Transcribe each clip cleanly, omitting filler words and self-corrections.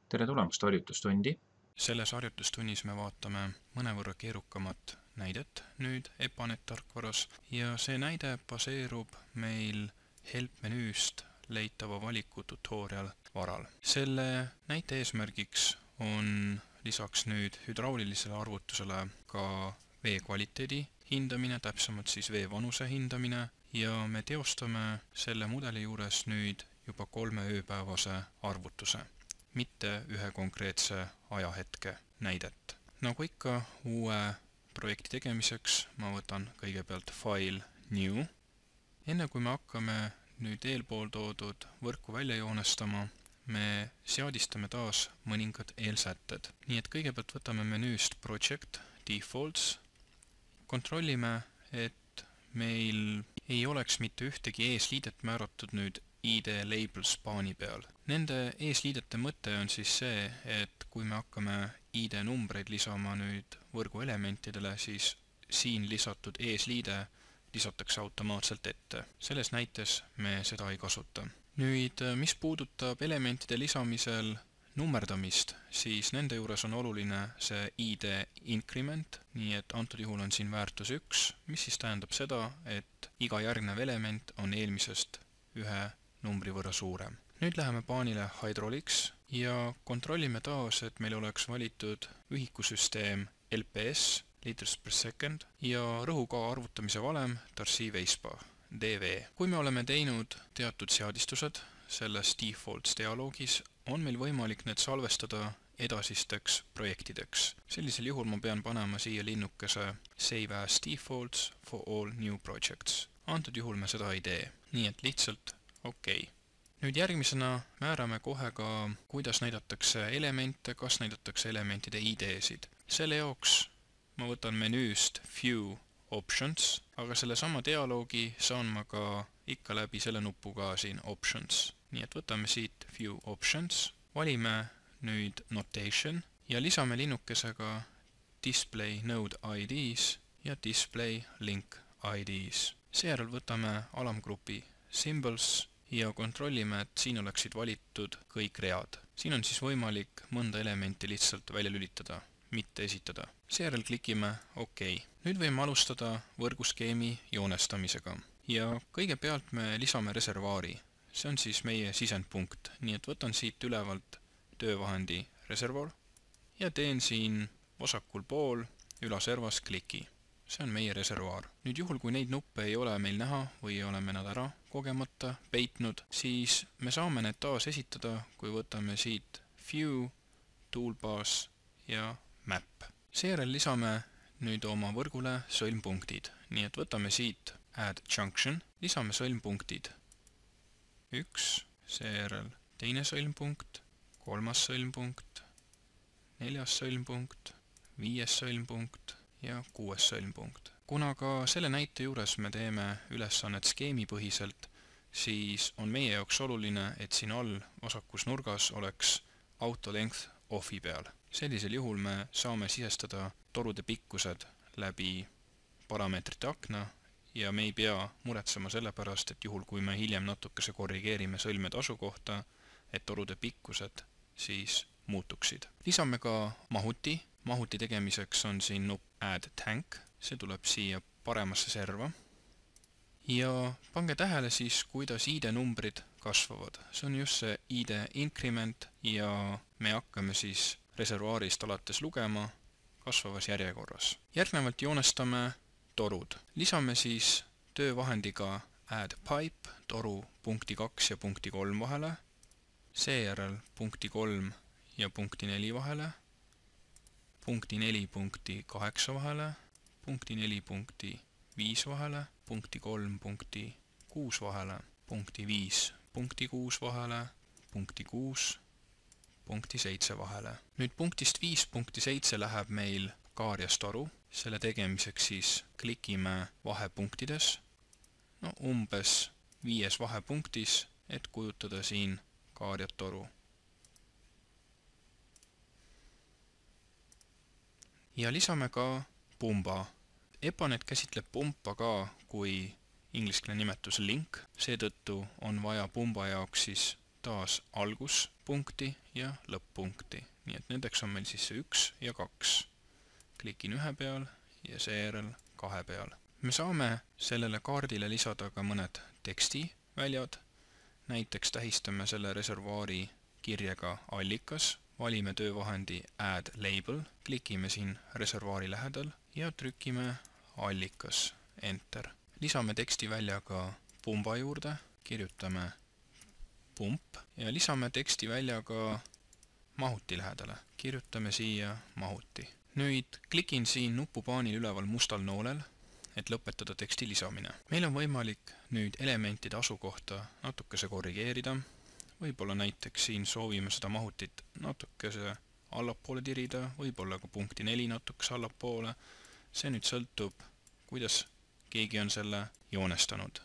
Tere tulemast harjutustundi. Selles harjutustunnis me vaatame mõnevõrra keerukamat näidet nüüd EPANET tarkvaras ja see näide baseerub meil help menüüst leitava valiku tutorial varal. Selle näite eesmärgiks on lisaks nüüd hydraulilisele arvutusele ka vee kvaliteedi hindamine, täpsemalt siis vee vanuse hindamine ja me teostame selle mudeli juures nüüd juba 3 ööpäevase arvutuse, mitte ühe konkreetse ajahetke näidet. Nagu ikka uue projekti tegemiseks ma võtan kõigepealt file new. Enne kui me hakkame nüüd eelpool toodud võrku välja joonestama, me seadistame taas mõningad eelsätted. Nii et kõigepealt võtame menüüst project defaults, kontrollime, et meil ei oleks mitte ühtegi eesliidet määratud nüüd ID labels paani peal. Nende eesliidete mõte on siis see, et kui me hakkame ID numbreid lisama nüüd võrgu elementidele, siis siin lisatud eesliide lisatakse automaatselt ette. Selles näites me seda ei kasuta. Nüüd, mis puudutab elementide lisamisel nummerdamist, siis nende juures on oluline see ID increment, nii et antud juhul on siin väärtus 1, mis siis tähendab seda, et iga järgnev element on eelmisest ühe numbri võrra suurem. Nüüd läheme paanile hydraulics ja kontrollime taas, et meil oleks valitud ühikusüsteem LPS, liters per second, ja rõhuga arvutamise valem Darcy Weisbach, DV. Kui me oleme teinud teatud seadistused selles defaults dialoogis, on meil võimalik need salvestada edasisteks projektideks. Sellisel juhul ma pean panema siia linnukese Save as defaults for all new projects. Antud juhul me seda ei tee, nii et lihtsalt OK. Nüüd järgmisena määrame kohe ka, kuidas näidatakse elemente, kas näidatakse elementide ID-sid. Selle jaoks ma võtan menüüst View Options, aga selle sama dialoogi saan ma ka ikka läbi selle nupuga siin Options. Nii et võtame siit View Options, valime nüüd Notation ja lisame linnukesega Display Node IDs ja Display Link IDs. Seejärel võtame alamgrupi Symbols ja kontrollime, et siin oleksid valitud kõik read. Siin on siis võimalik mõnda elementi lihtsalt välja lülitada, mitte esitada. Seejärel klikime OK. Nüüd võime alustada võrguskeemi joonestamisega. Ja kõigepealt me lisame reservaari. See on siis meie sisendpunkt, nii et võtan siit ülevalt töövahendi reservoir ja teen siin vasakul pool ülaservas kliki. See on meie reservaar. Nüüd juhul, kui neid nuppe ei ole meil näha või oleme nad ära kogemata peitnud, siis me saame need taas esitada, kui võtame siit View, Toolbars ja Map. Seejärel lisame nüüd oma võrgule sõlmpunktid, nii et võtame siit Add Junction, lisame sõlmpunktid 1, seejärel teine sõlmpunkt, 3. sõlmpunkt, 4. sõlmpunkt, 5. sõlmpunkt ja 6. sõlmpunkt. Kuna ka selle näite juures me teeme ülesannet skeemipõhiselt, siis on meie jaoks oluline, et siin all vasakus nurgas oleks auto length off'i peal. Sellisel juhul me saame sisestada torude pikkused läbi parameetrite akna ja me ei pea muretsema selle pärast, et juhul kui me hiljem natukese korrigeerime sõlmede asukohta, et torude pikkused siis muutuksid. Lisame ka mahuti. Mahuti tegemiseks on siin nupp Add Tank. See tuleb siia paremasse serva. Ja pange tähele siis, kuidas ID numbrid kasvavad. See on just see ID increment ja me hakkame siis reservaarist alates lugema kasvavas järjekorras. Järgnevalt joonestame torud. Lisame siis töövahendiga Add Pipe toru punkti 2 ja punkti 3 vahele, seejärel punkti 3 ja punkti 4 vahele, punkti 4 punkti 8 vahele, punkti 4 punkti 5 vahele, punkti 3 punkti 6 vahele, punkti 5 punkti 6 vahele, punkti 6 punkti 7 vahele. Nüüd punktist 5 punkti 7 läheb meil kaarjas toru. Selle tegemiseks siis klikime vahepunktides, umbes 5 vahepunktis, et kujutada siin kaarjat toru. Ja lisame ka pumba. EPANET käsitleb pumpa ka kui ingliskeelne nimetus link, seetõttu on vaja pumba jaoks siis taas alguspunkti ja lõpp-punkti. Nii et nendeks on meil siis see 1 ja 2. Klikin ühe peal ja seejärel 2 peal. Me saame sellele kaardile lisada ka mõned tekstiväljad. Näiteks tähistame selle reservaari kirjega allikas, valime töövahendi Add Label, klikime siin reservaari lähedal ja trükime allikas, Enter. Lisame tekstivälja ka pumba juurde, kirjutame pump ja lisame tekstivälja ka mahuti lähedale, kirjutame siia mahuti. Nüüd klikin siin nupupaanil üleval mustal noolel, et lõpetada teksti lisamine. Meil on võimalik nüüd elementide asukohta natukese korrigeerida. Võib-olla näiteks siin soovime seda mahutit natukese allapoole tirida, võib-olla ka punkti 4 natukese allapoole. See nüüd sõltub, kuidas keegi on selle joonestanud.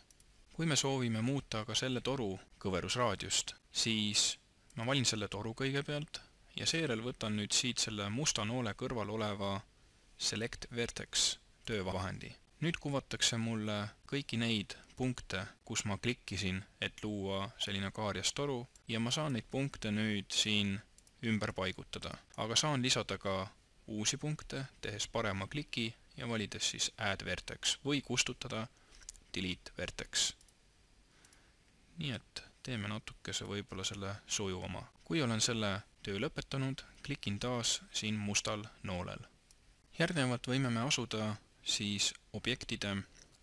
Kui me soovime muuta ka selle toru kõverusraadiust, siis ma valin selle toru kõigepealt ja seejärel võtan nüüd siit selle musta noole kõrval oleva Select Vertex töövahendi. Nüüd kuvatakse mulle kõiki neid punkte, kus ma klikkisin, et luua selline kaarjas toru ja ma saan neid punkte nüüd siin ümber paigutada. Aga saan lisada ka uusi punkte, tehes parema kliki ja valides siis Add Vertex või kustutada Delete Vertex. Nii et teeme natukese võib-olla selle sujuvama. Kui olen selle töö lõpetanud, klikin taas siin mustal noolel. Järgnevalt võime me asuda siis objektide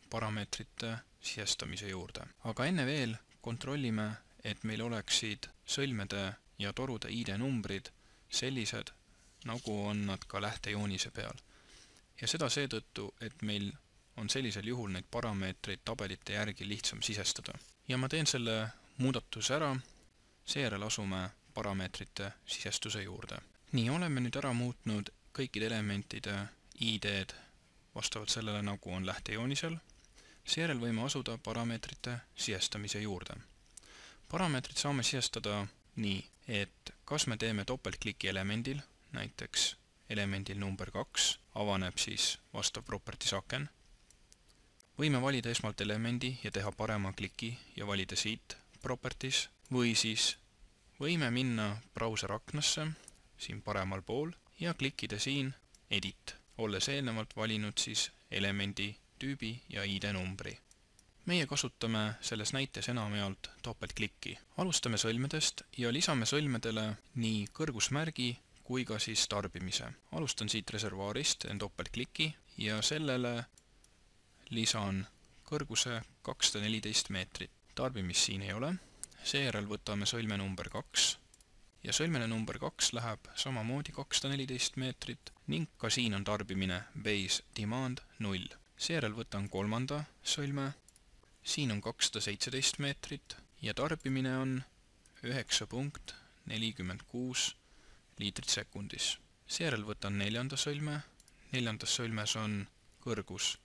parameetrite sisestamise juurde. Aga enne veel kontrollime, et meil oleksid sõlmede ja torude ID-numbrid sellised, nagu on nad ka lähtejoonise peal. Ja seda seetõttu, et meil on sellisel juhul neid parameetreid tabelite järgi lihtsam sisestada. Ja ma teen selle muudatuse ära, seejärel asume parameetrite sisestuse juurde. Nii, oleme nüüd ära muutnud kõikide elementide ID-d vastavalt sellele, nagu on lähtejoonisel. Seejärel võime asuda parameetrite sisestamise juurde. Parameetrid saame sisestada nii, et kas me teeme topeltkliki elemendil, näiteks elemendil number 2, avaneb siis vastav properties aken. Võime valida esmalt elemendi ja teha parema kliki ja valida siit properties, või siis võime minna brauseraknasse, siin paremal pool, ja klikkida siin Edit, olles eelnevalt valinud siis elemendi tüübi ja ID-numbri. Meie kasutame selles näites enamjaolt topeltklikki. Alustame sõlmedest ja lisame sõlmedele nii kõrgusmärgi kui ka siis tarbimise. Alustan siit reservaarist, teen topeltkliki ja sellele lisan kõrguse 214 meetrit. Tarbimist siin ei ole. Seejärel võtame sõlme number 2 ja sõlmene number 2 läheb samamoodi 214 meetrit ning ka siin on tarbimine base demand 0. Seejärel võtan kolmanda sõlme, siin on 217 meetrit ja tarbimine on 9.46 liitrit sekundis. Seejärel võtan neljanda sõlme, neljandas sõlmes on kõrgus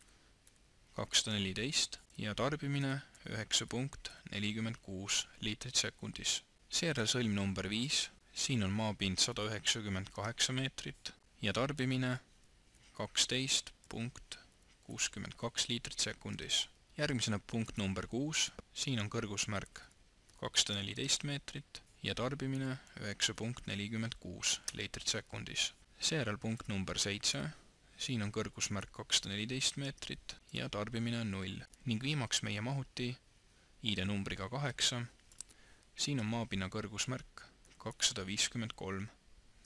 214 ja tarbimine 9.46 liitrit sekundis. Seejärel sõlm number 5, siin on maapind 198 meetrit ja tarbimine 12.62 liitrit sekundis. Järgmisena punkt number 6, siin on kõrgusmärk 214 meetrit ja tarbimine 9.46 liitrit sekundis. Seejärel punkt number 7, siin on kõrgusmärk 214 meetrit ja tarbimine on 0 ning viimaks meie mahuti ID-numbriga 8. Siin on maapinna kõrgusmärk 253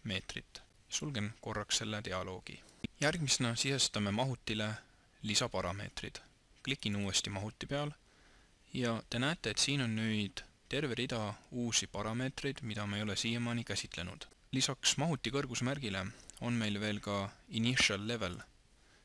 meetrit. Sulgen korraks selle dialoogi. Järgmisena sisestame mahutile lisaparameetrid. Klikin uuesti mahuti peal ja te näete, et siin on nüüd terve rida uusi parameetreid, mida me ei ole siiamaani käsitlenud. Lisaks mahuti kõrgusmärgile on meil veel ka initial level.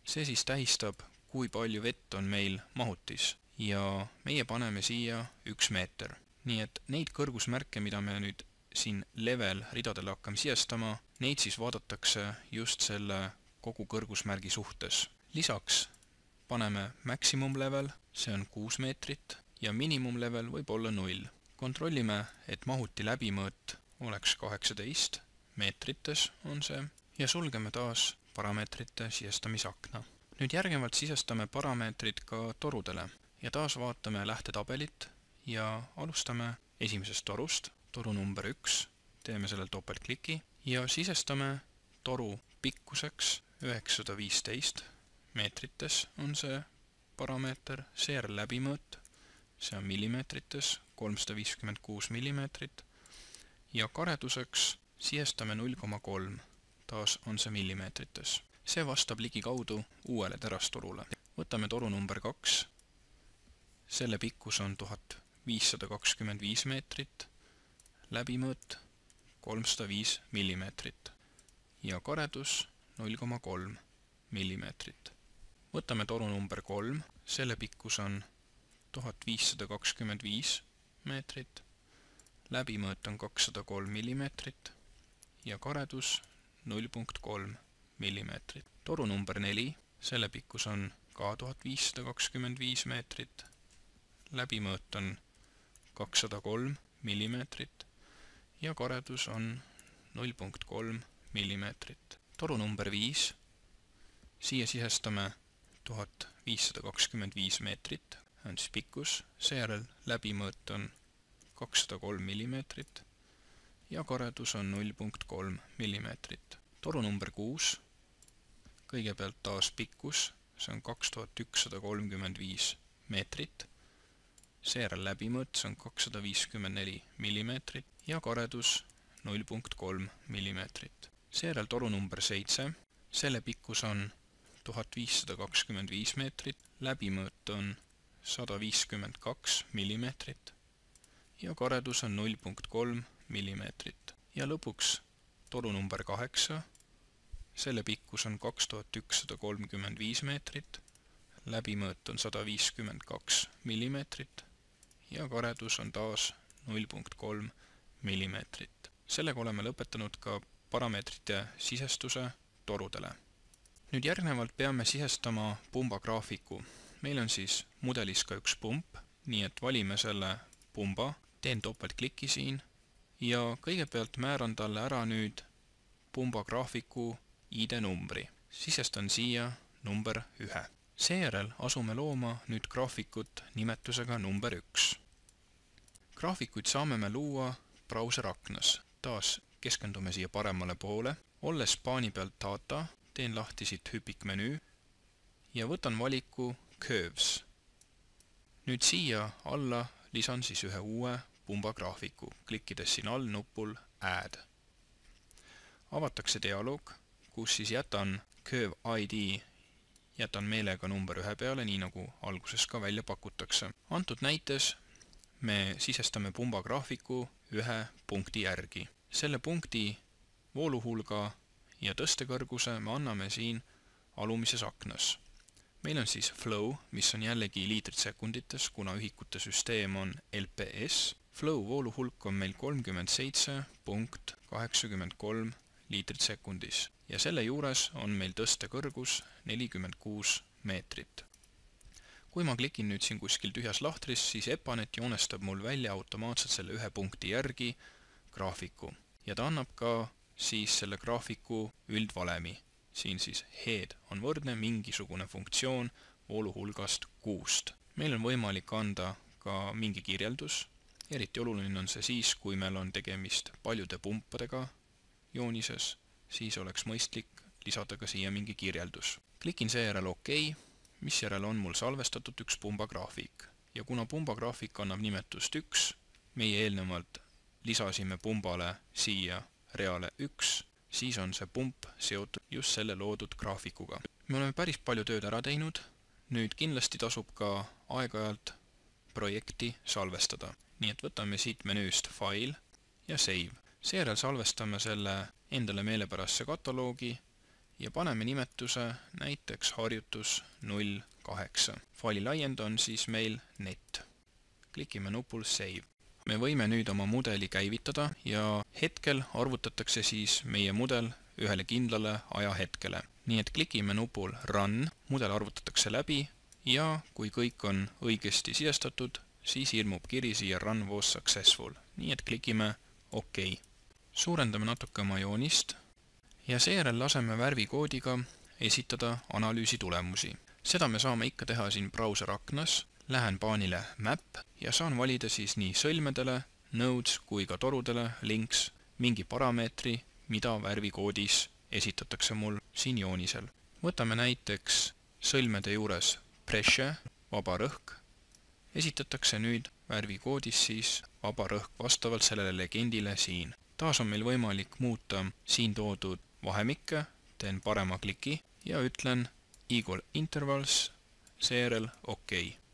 See siis tähistab, kui palju vett on meil mahutis ja meie paneme siia 1 meeter. Nii et neid kõrgusmärke, mida me nüüd siin level ridadele hakkame sisestama, neid siis vaadatakse just selle kogu kõrgusmärgi suhtes. Lisaks paneme maximum level, see on 6 meetrit ja minimum level võib olla 0. Kontrollime, et mahuti läbimõõt oleks 18 meetrites on see ja sulgeme taas parameetrite sisestamisakna. Nüüd järgnevalt sisestame parameetrid ka torudele ja taas vaatame lähtetabelit ja alustame esimesest torust. toru number 1, teeme sellel topeltkliki ja sisestame toru pikkuseks 915 meetrites on see parameeter, seejärel läbimõõt, see on millimeetrites, 356 millimeetrit ja kareduseks sisestame 0,3, taas on see millimeetrites. See vastab ligikaudu uuele terastorule. Võtame toru number 2, selle pikkus on 1525 meetrit, läbimõõt 305 millimeetrit ja karedus 0,3 millimeetrit. Võtame toru number 3, selle pikkus on 1525 meetrit, läbimõõt on 203 millimeetrit ja karedus 0,3 millimeetrit. Toru number 4, selle pikkus on ka 1525 meetrit, läbimõõt on 203 millimeetrit ja karedus on 0,3 millimeetrit. Toru number 5, siia sisestame 1525 meetrit, on siis pikkus, seejärel läbimõõt on 203 millimeetrit ja karedus on 0,3 millimeetrit. Toru number 6, kõigepealt taas pikkus, see on 2135 meetrit, seejärel läbimõõt, see on 254 millimeetrit ja karedus 0,3 millimeetrit. Seejärel toru number 7, selle pikkus on 1525 meetrit, läbimõõt on 152 millimeetrit ja karedus on 0,3 millimeetrit. Ja lõpuks toru number 8, selle pikkus on 2135 meetrit, läbimõõt on 152 millimeetrit ja karedus on taas 0,3 millimeetrit. Sellega oleme lõpetanud ka parameetrite sisestuse torudele. Nüüd järgnevalt peame sisestama pumba graafiku. Meil on siis mudelis ka üks pump, nii et valime selle pumba, teen topeltkliki siin ja kõigepealt määran talle ära nüüd pumba graafiku ID numbri. Sisestan siia number 1. Seejärel asume looma nüüd graafikut nimetusega number 1. Graafikuid saame me luua brauseraknas. Taas keskendume siia paremale poole. Olles paani pealt data, teen lahti siit hüpikmenüü ja võtan valiku Curves. Nüüd siia alla lisan siis ühe uue pumba graafiku, klikkides siin all nupul Add. Avatakse dialoog, kus siis jätan Curve ID, jätan meelega number 1 peale, nii nagu alguses ka välja pakutakse. Antud näites me sisestame pumba graafiku ühe punkti järgi. Selle punkti vooluhulga ja tõstekõrguse me anname siin alumises aknas. Meil on siis flow, mis on jällegi liitrid sekundites, kuna ühikute süsteem on LPS. Flow vooluhulk on meil 37.83 liitrit sekundis ja selle juures on meil tõstekõrgus 46 meetrit. Kui ma klikin nüüd siin kuskil tühjas lahtris, siis Epanet joonestab mul välja automaatselt selle ühe punkti järgi graafiku ja ta annab ka siis selle graafiku üldvalemi. Siin siis head on võrdne mingisugune funktsioon vooluhulgast 6. Meil on võimalik anda ka mingi kirjeldus. Eriti oluline on see siis, kui meil on tegemist paljude pumpadega joonises, siis oleks mõistlik lisada ka siia mingi kirjeldus. Klikin seejärel OK, misjärel on mul salvestatud üks pumba graafik. Ja kuna pumba graafik annab nimetust 1, meie eelnevalt lisasime pumbale siia reale 1, siis on see pump seotud just selle loodud graafikuga. Me oleme päris palju tööd ära teinud, nüüd kindlasti tasub ka aeg-ajalt projekti salvestada. Nii et võtame siit menüüst File ja Save. Seejärel salvestame selle endale meelepärasse kataloogi ja paneme nimetuse näiteks harjutus 08. Faili laiend on siis meil net. Klikime nupul Save. Me võime nüüd oma mudeli käivitada ja hetkel arvutatakse siis meie mudel ühele kindlale ajahetkele. Nii et klikime nupul Run, mudel arvutatakse läbi ja kui kõik on õigesti sisestatud, siis ilmub kiri siia Run was successful. Nii et klikime OK. Suurendame natuke oma joonist ja seejärel laseme värvikoodiga esitada analüüsi tulemusi. Seda me saame ikka teha siin brauseraknas. Lähen paanile Map ja saan valida siis nii sõlmedele nodes kui ka torudele links mingi parameetri, mida värvikoodis esitatakse mul siin joonisel. Võtame näiteks sõlmede juures pressure, vaba rõhk, esitatakse nüüd värvikoodis siis vaba rõhk vastavalt sellele legendile siin. Taas on meil võimalik muuta siin toodud vahemikke, teen parema kliki ja ütlen equal intervals, seejärel OK.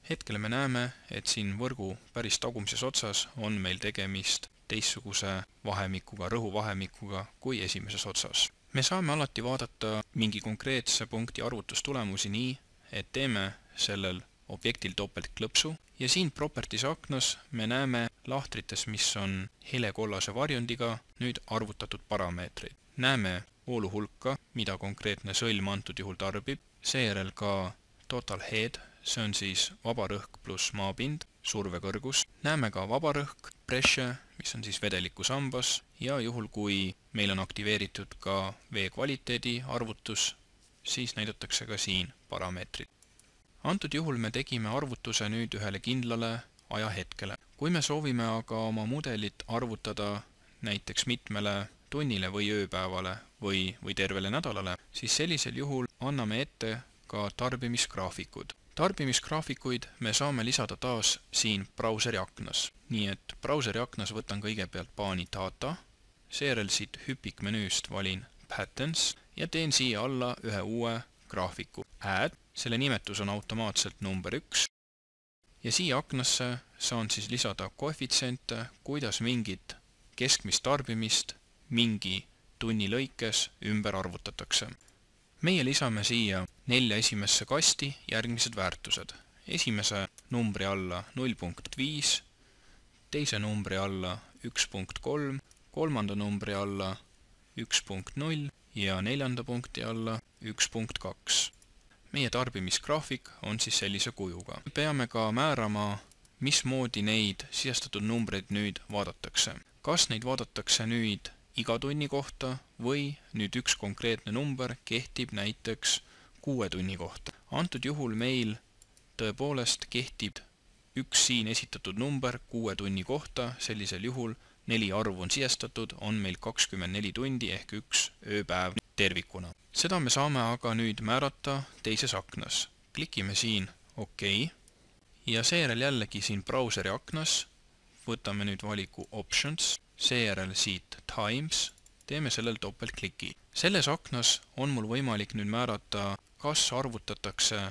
Hetkel me näeme, et siin võrgu päris tagumises otsas on meil tegemist teistsuguse vahemikuga, rõhuvahemikuga kui esimeses otsas. Me saame alati vaadata mingi konkreetse punkti arvutustulemusi nii, et teeme sellel objektil topeltklõpsu ja siin properties aknas me näeme lahtrites, mis on helekollase varjundiga, nüüd arvutatud parameetreid. Näeme voolu hulka, mida konkreetne sõlm antud juhul tarbib, seejärel ka total head, see on siis vaba rõhk pluss maapind, survekõrgus. Näeme ka vaba rõhk, pressure, mis on siis vedeliku sambas ja juhul, kui meil on aktiveeritud ka vee kvaliteedi arvutus, siis näidatakse ka siin parameetrid. Antud juhul me tegime arvutuse nüüd ühele kindlale ajahetkele. Kui me soovime aga oma mudelit arvutada näiteks mitmele tunnile või ööpäevale või tervele nädalale, siis sellisel juhul anname ette ka tarbimisgraafikud. Tarbimisgraafikuid me saame lisada taas siin brauseri aknas. Nii et brauseri aknas võtan kõigepealt paani data, seejärel siit hüpikmenüüst valin patterns ja teen siia alla ühe uue graafiku. Add, selle nimetus on automaatselt number 1 ja siia aknasse saan siis lisada koefitsiente, kuidas mingit keskmist tarbimist mingi tunni lõikes ümber arvutatakse. Meie lisame siia 4 esimesse kasti järgmised väärtused. Esimese numbri alla 0.5, teise numbri alla 1.3, kolmanda numbri alla 1.0 ja neljanda punkti alla 1.2. Meie tarbimisgraafik on siis sellise kujuga. Peame ka määrama, mismoodi neid sisestatud numbreid nüüd vaadatakse. Kas neid vaadatakse nüüd iga tunni kohta või nüüd üks konkreetne number kehtib näiteks 6 tunni kohta. Antud juhul meil tõepoolest kehtib üks siin esitatud number 6 tunni kohta, sellisel juhul 4 arvu on sisestatud, on meil 24 tundi ehk üks ööpäev tervikuna. Seda me saame aga nüüd määrata teises aknas. Klikime siin OK ja seejärel jällegi siin brauseri aknas võtame nüüd valiku Options, seejärel siit Times, teeme sellel topeltkliki. Selles aknas on mul võimalik nüüd määrata, kas arvutatakse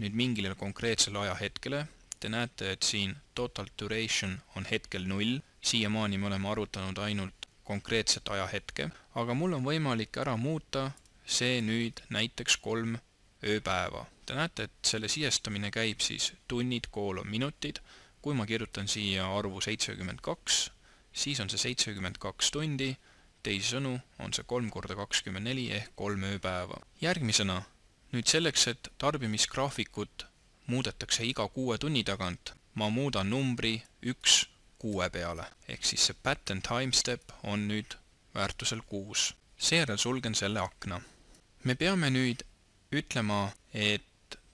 nüüd mingile konkreetsele ajahetkele. Te näete, et siin total duration on hetkel 0. Siiamaani me oleme arvutanud ainult konkreetset ajahetke, aga mul on võimalik ära muuta see nüüd näiteks 3 ööpäeva. Te näete, et selle sisestamine käib siis tunnid koolon minutid. Kui ma kirjutan siia arvu 72, siis on see 72 tundi, teisisõnu on see 3 × 24 ehk 3 ööpäeva. Järgmisena, nüüd selleks, et tarbimisgraafikut muudetakse iga 6 tunni tagant, ma muudan numbri 1 6 peale, ehk siis see pattern timestep on nüüd väärtusel 6. Seejärel sulgen selle akna. Me peame nüüd ütlema, et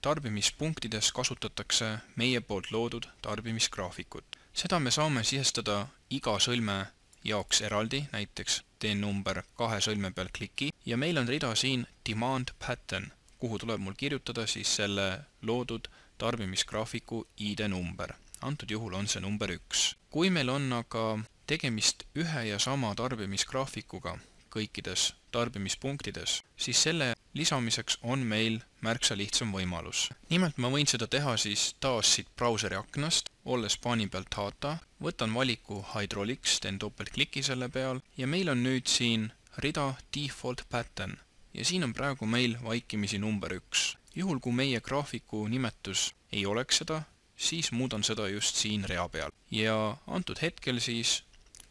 tarbimispunktides kasutatakse meie poolt loodud tarbimisgraafikut. Seda me saame sisestada iga sõlme jaoks eraldi, näiteks teen number 2 sõlme peal kliki ja meil on rida siin demand pattern, kuhu tuleb mul kirjutada siis selle loodud tarbimisgraafiku ID number. Antud juhul on see number 1. Kui meil on aga tegemist ühe ja sama tarbimisgraafikuga kõikides tarbimispunktides, siis selle lisamiseks on meil märksa lihtsam võimalus. Nimelt ma võin seda teha siis taas siit brauseri aknast, olles paani pealt data, võtan valiku Hydraulics, teen topeltkliki selle peal ja meil on nüüd siin rida default pattern ja siin on praegu meil vaikimisi number 1. Juhul kui meie graafiku nimetus ei oleks seda, siis muudan seda just siin rea peal ja antud hetkel siis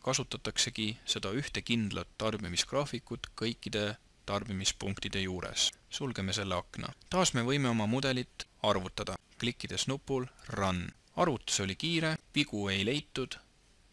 kasutataksegi seda ühte kindlat tarbimisgraafikut kõikide tarbimispunktide juures. Sulgeme selle akna. Taas me võime oma mudelit arvutada, klikkides nupul Run. Arvutus oli kiire, vigu ei leitud,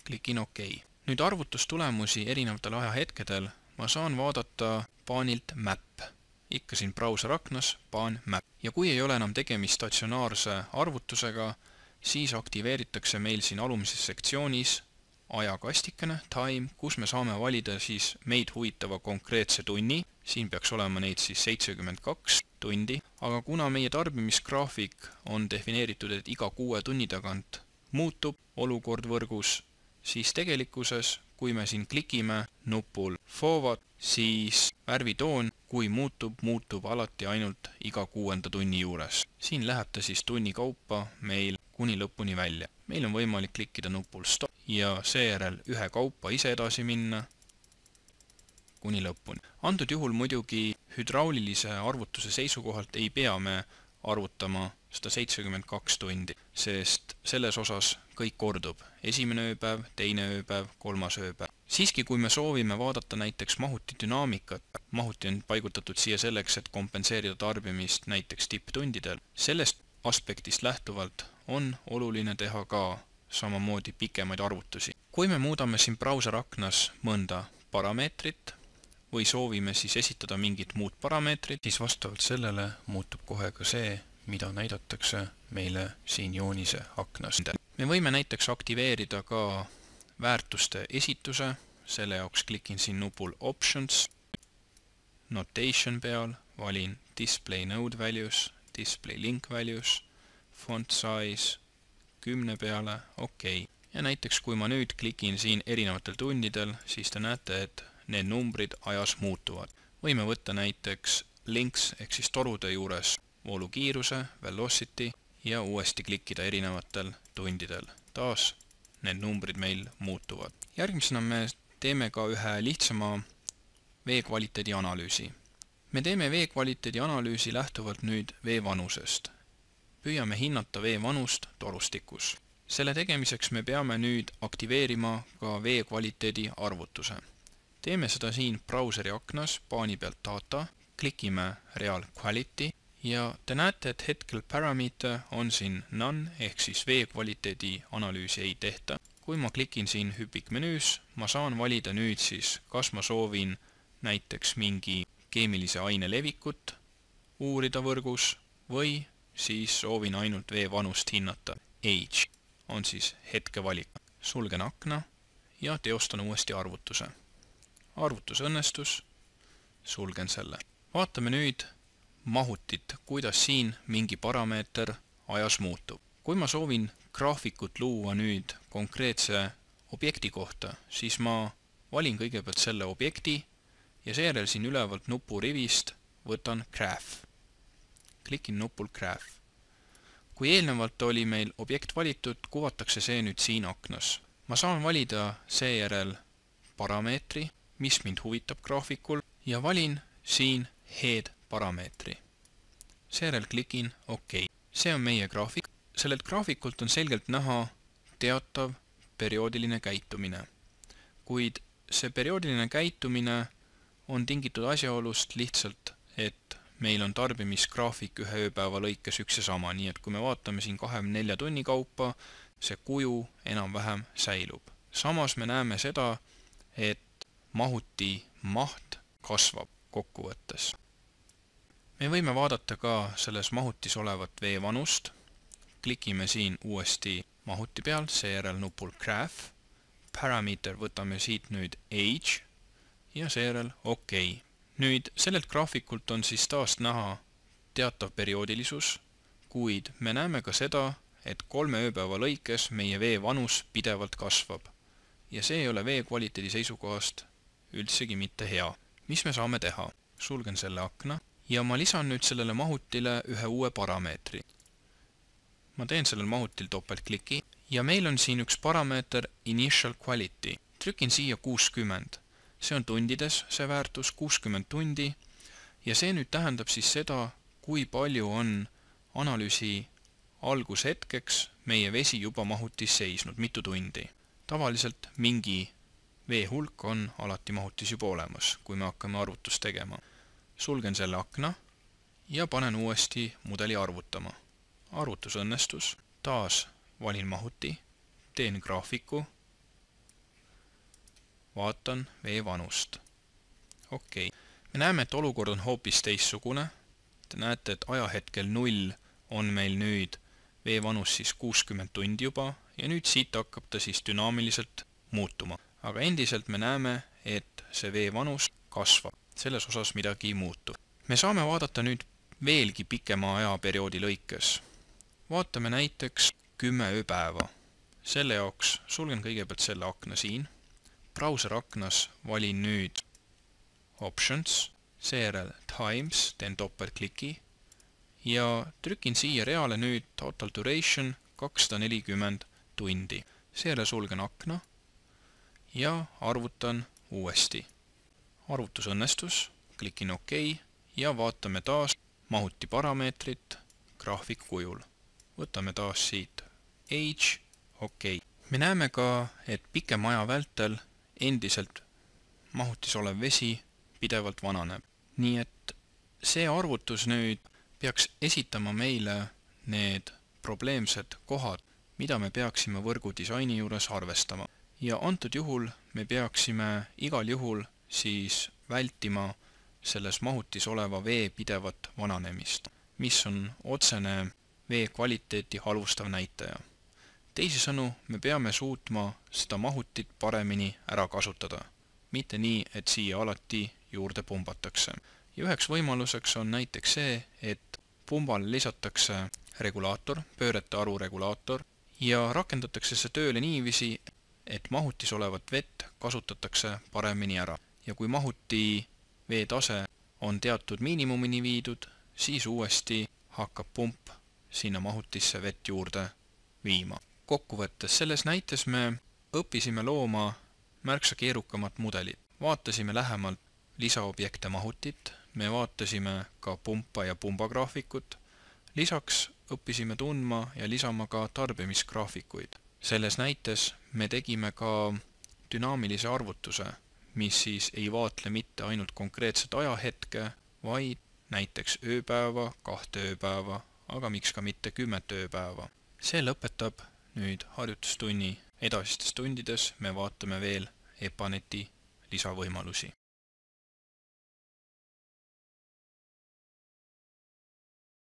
klikin OK. Nüüd arvutustulemusi erinevatel ajahetkedel ma saan vaadata paanilt Map. Ikka siin brauser aknas, paan Map. Ja kui ei ole enam tegemist statsionaarse arvutusega, siis aktiveeritakse meil siin alumises sektsioonis ajakastikene, time, kus me saame valida siis meid huvitava konkreetse tunni. Siin peaks olema neid siis 72 tundi, aga kuna meie tarbimisgraafik on defineeritud, et iga 6 tunni tagant muutub olukord võrgus, siis tegelikkuses, kui me siin klikime nupul forward, siis värvitoon, kui muutub alati ainult iga 6. tunni juures. Siin läheb ta siis tunni kaupa meil kuni lõpuni välja. Meil on võimalik klikkida nupul stop ja seejärel ühe kaupa ise edasi minna kuni lõpuni. Antud juhul muidugi hüdraulilise arvutuse seisukohalt ei pea me arvutama 172 tundi, sest selles osas kõik kordub. Esimene ööpäev, teine ööpäev, kolmas ööpäev. Siiski, kui me soovime vaadata näiteks mahuti dünaamikat, mahuti on paigutatud siia selleks, et kompenseerida tarbimist näiteks tipptundidel, sellest aspektist lähtuvalt on oluline teha ka samamoodi pikemaid arvutusi. Kui me muudame siin brauseraknas mõnda parameetrit või soovime siis esitada mingit muud parameetrit, siis vastavalt sellele muutub kohe ka see, mida näidatakse meile siin joonise aknas. Me võime näiteks aktiveerida ka väärtuste esituse, selle jaoks klikin siin nupul Options, Notation peal, valin Display Node Values, Display Link Values, Font Size 10 peale, OK. Ja näiteks kui ma nüüd klikin siin erinevatel tundidel, siis te näete, et need numbrid ajas muutuvad. Võime võtta näiteks links ehk siis torude juures voolukiiruse, velocity ja uuesti klikkida erinevatel tundidel. Taas need numbrid meil muutuvad. Järgmisena me teeme ka ühe lihtsama vee kvaliteedi analüüsi. Me teeme vee kvaliteedi analüüsi lähtuvalt nüüd vee vanusest. Püüame hinnata vee vanust torustikus. Selle tegemiseks me peame nüüd aktiveerima ka vee kvaliteedi arvutuse. Teeme seda siin brauseri aknas, paani pealt data, klikime Real Quality ja te näete, et hetkel parameter on siin none ehk siis vee kvaliteedi analüüsi ei tehta. Kui ma klikin siin hüpikmenüüs, ma saan valida nüüd siis, kas ma soovin näiteks mingi keemilise aine levikut uurida võrgus või siis soovin ainult vee vanust hinnata. Age on siis hetke valik. Sulgen akna ja teostan uuesti arvutuse. Arvutus õnnestus, sulgen selle. Vaatame nüüd mahutit, kuidas siin mingi parameeter ajas muutub. Kui ma soovin graafikut luua nüüd konkreetse objekti kohta, siis ma valin kõigepealt selle objekti ja seejärel siin ülevalt nupurivist võtan Graph. Klikin nupul Graph. Kui eelnevalt oli meil objekt valitud, kuvatakse see nüüd siin aknas. Ma saan valida seejärel parameetri, mis mind huvitab graafikul ja valin siin Head parameetri. Seejärel klikin OK. See on meie graafik. Sellelt graafikult on selgelt näha teatav perioodiline käitumine. Kuid see perioodiline käitumine on tingitud asjaolust lihtsalt, et meil on tarbimisgraafik ühe ööpäeva lõikes üks ja sama, nii et kui me vaatame siin 24 tunni kaupa, see kuju enam-vähem säilub. Samas me näeme seda, et mahuti maht kasvab kokkuvõttes. Me võime vaadata ka selles mahutis olevat vee vanust. Klikime siin uuesti mahuti peal, seejärel nupul Graph. Parameter võtame siit nüüd Age ja seejärel OK. Nüüd sellelt graafikult on siis taas näha teatav perioodilisus, kuid me näeme ka seda, et 3 ööpäeva lõikes meie vee vanus pidevalt kasvab. Ja see ei ole vee kvaliteedi seisukohast üldsegi mitte hea. Mis me saame teha? Sulgen selle akna ja ma lisan nüüd sellele mahutile ühe uue parameetri. Ma teen sellel mahutil topeltkliki ja meil on siin üks parameeter Initial Quality. Trükin siia 60. See on tundides, see väärtus 60 tundi ja see nüüd tähendab siis seda, kui palju on analüüsi algushetkeks meie vesi juba mahutis seisnud, mitu tundi. Tavaliselt mingi vee hulk on alati mahutis juba olemas, kui me hakkame arvutust tegema. Sulgen selle akna ja panen uuesti mudeli arvutama. Arvutus õnnestus, taas valin mahuti, teen graafiku, vaatan vee vanust. OK. Me näeme, et olukord on hoopis teissugune. Te näete, et ajahetkel 0 on meil nüüd vee vanus siis 60 tundi juba ja nüüd siit hakkab ta siis dünaamiliselt muutuma. Aga endiselt me näeme, et see vee vanus kasvab. Selles osas midagi ei muutu. Me saame vaadata nüüd veelgi pikema ajaperioodi lõikes. Vaatame näiteks 10 ööpäeva. Selle jaoks sulgen kõigepealt selle akna siin. Browser aknas valin nüüd Options, seejärel Times, teen topeltkliki ja trükin siia reale nüüd Total Duration 240 tundi. Seejärel sulgen akna ja arvutan uuesti. Arvutus õnnestus, klikin OK ja vaatame taas mahuti parameetrit graafiku kujul. Võtame taas siit Age, OK. Me näeme ka, et pikema aja vältel endiselt mahutis olev vesi pidevalt vananeb. Nii et see arvutus nüüd peaks esitama meile need probleemsed kohad, mida me peaksime võrgudisaini juures arvestama. Ja antud juhul me peaksime igal juhul siis vältima selles mahutis oleva vee pidevat vananemist, mis on otsene vee kvaliteeti halvustav näitaja. Teisisõnu, me peame suutma seda mahutit paremini ära kasutada, mitte nii, et siia alati juurde pumbatakse. Ja üheks võimaluseks on näiteks see, et pumbale lisatakse regulaator, pöörete arvu regulaator ja rakendatakse see tööle niiviisi, et mahutis olevat vett kasutatakse paremini ära. Ja kui mahuti veetase on teatud miinimumini viidud, siis uuesti hakkab pump sinna mahutisse vett juurde viima. Kokkuvõttes selles näites me õppisime looma märksa keerukamat mudelit. Vaatasime lähemalt lisaobjekte mahutit, me vaatasime ka pumpa ja pumbagraafikut, lisaks õppisime tundma ja lisama ka tarbimisgraafikuid. Selles näites me tegime ka dünaamilise arvutuse, mis siis ei vaatle mitte ainult konkreetset ajahetke, vaid näiteks ööpäeva, 2 ööpäeva, aga miks ka mitte 10 ööpäeva. See lõpetab nüüd harjutustunni. Edasistes tundides me vaatame veel EPANET-i lisavõimalusi.